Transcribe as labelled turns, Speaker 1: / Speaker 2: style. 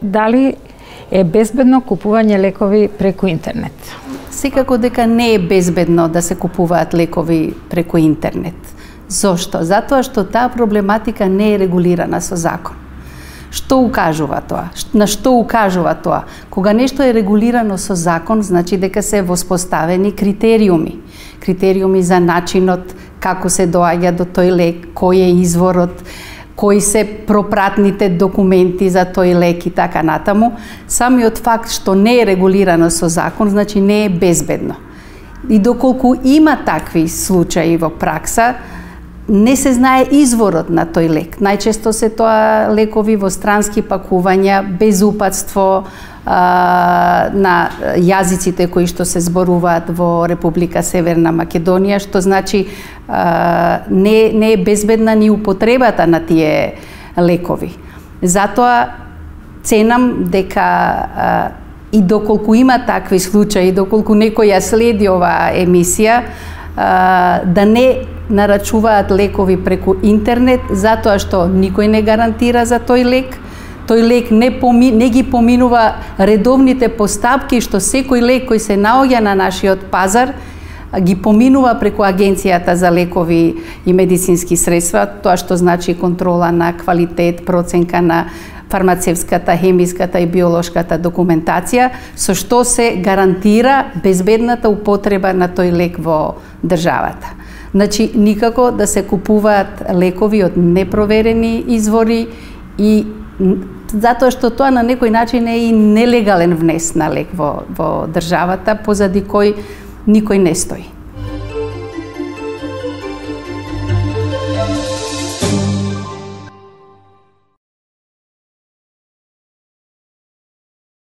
Speaker 1: дали е безбедно купување лекови преку интернет?
Speaker 2: Секако дека не е безбедно да се купуваат лекови преку интернет. Зошто? Затоа што таа проблематика не е регулирана со закон. Што укажува тоа? На што укажува тоа? Кога нешто е регулирано со закон, значи дека се воспоставени критериуми. Критериуми за начинот како се доаѓа до тој лек, кој е изворот, кои се пропратните документи за тој лек и така натаму. Самиот факт што не е регулирано со закон, значи не е безбедно. И доколку има такви случаи во пракса, не се знае изворот на тој лек. Најчесто се тоа лекови во странски пакувања, без упатство на јазиците кои што се зборуваат во Република Северна Македонија, што значи не е безбедна ни употребата на тие лекови. Затоа ценам дека и доколку има такви случаи, доколку некој ја следи оваа емисија, да не нарачуваат лекови преку интернет, затоа што никој не гарантира за тој лек. Тој лек не ги поминува редовните постапки што секој лек кој се наоѓа на нашиот пазар ги поминува преку Агенцијата за лекови и медицински средства, тоа што значи контрола на квалитет, проценка на фармацевската, хемиската и биолошката документација, со што се гарантира безбедната употреба на тој лек во државата. Значи, никако да се купуваат лекови од непроверени извори и затоа што тоа на некој начин е и нелегален внес на лек во државата, позади кој никој не стои.